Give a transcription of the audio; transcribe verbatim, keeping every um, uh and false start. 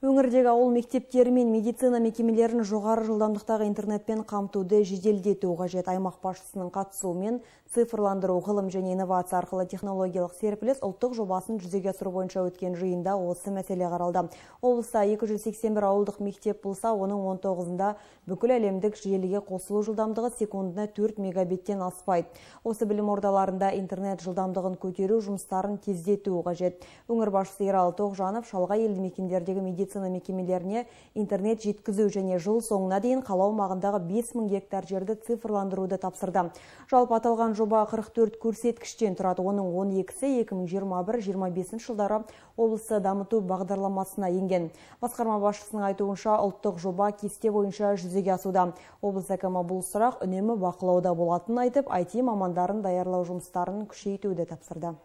Өңірдегі ауыл мектептері мен медицина мекемелерін жоғары жылдамдықтағы интернетпен қамтуды жеделдету қажет. Аймақ басшысының қатысуымен цифрландыру, ғылым және инновация арқылы технологиялық серпіліс ұлттық жобасын жүзеге асыру бойынша өткен жиында осы мәселе қаралды. Облыста екі жүз сексен бір ауылдық мектеп болса, оның он тоғызында бүкіл әлемдік желіге қосылу жылдамдығы секундына төрт мегабиттен аспайды. Осы білім ордаларында интернет жылдамдығын көтеру жұмыстарын тездету қажет. Өңір басшысы Ералы Тоғжанов шалғай елді мекендердегі медицина мекемелеріне интернет жеткізу және жыл соңына дейін қала аумағындағы бес мың гектар жерді цифрландыруды тапсырды. Жалпы аталған жоба қырық төрт көрсеткіштен тұрады. Оның он екісі екі мың жиырма бір жиырма бесінші жылдары облысты дамыту бағдарламасына енген. Басқарма басшысының айтуынша ұлттық жоба кесте бойынша жүзеге асуда. Облыс әкімі бұл сұрақ үнемі бақылауда болатынын айтып, ай ти мамандарын даярлау жұмыстарын күшейтуді тапсырды.